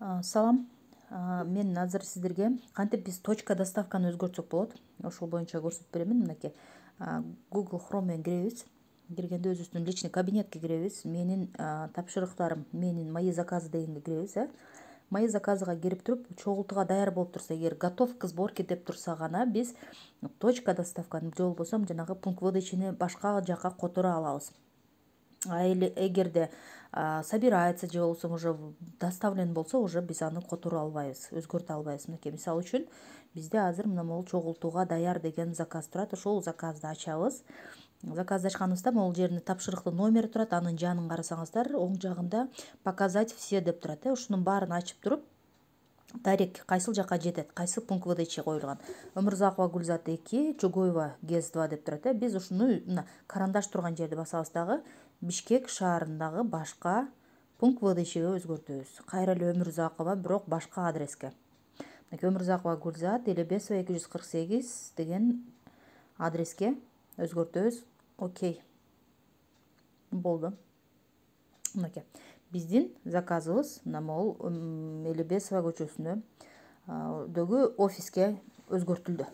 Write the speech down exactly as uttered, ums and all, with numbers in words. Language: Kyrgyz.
А, Салам. А, Мен азыр сиздерге кантип биз точка доставканы өзгөртсөк болот, ошол боюнча көрсөтүп беремин. Мынакей, а, Google Chrome менен киребиз. Киргенде өзүбүздүн личный кабинетке киребиз. Менин а, тапшырыктарым, менин мои заказы дегенге киребиз, э. Мои заказыга кирип туруп, чогултууга даяр болуп турса, эгер готов к сборке деп турса гана биз точка доставканы же болбосо жанагы пункт выдачаны башка жака которо алабыз. А эле эгерде собирается же болбосо уже доставлен болсо, уже биз аны которо албайбыз, өзгөртө албайбыз. Мынакей, мисалы үчүн бизде азыр мына могул чогултууга даяр деген заказ турат. Ошол заказды ачабыз. Заказды ачканыбызда могул жеринде тапшырыктын номери турат. Анын жанын карасаңыздар, оң жагында показать все деп турат. Ушунун баарын ачып туруп, дарек кайсыл жака жетет, кайсы пункт выдача коюлган. Өмүрзакова Гүлзат эки, Чугоева ГЭС два деп турат. Биз ушуну мына карандаш турган жерди басабыз дагы Бишкек шаарындагы башка пункт выдачага өзгөртөбүз. Кайра эле Өмүрзакова, бирок башка адреске. Мынакей, Өмүрзакова Гүлзат, Элебесова эки жүз кырк сегиз деген адреске өзгөртөбүз. Окей. Болду. Мынакей, биздин заказыбыз мына могул Элебесова көчөсүнө дөгү офиске өзгөртүлдү.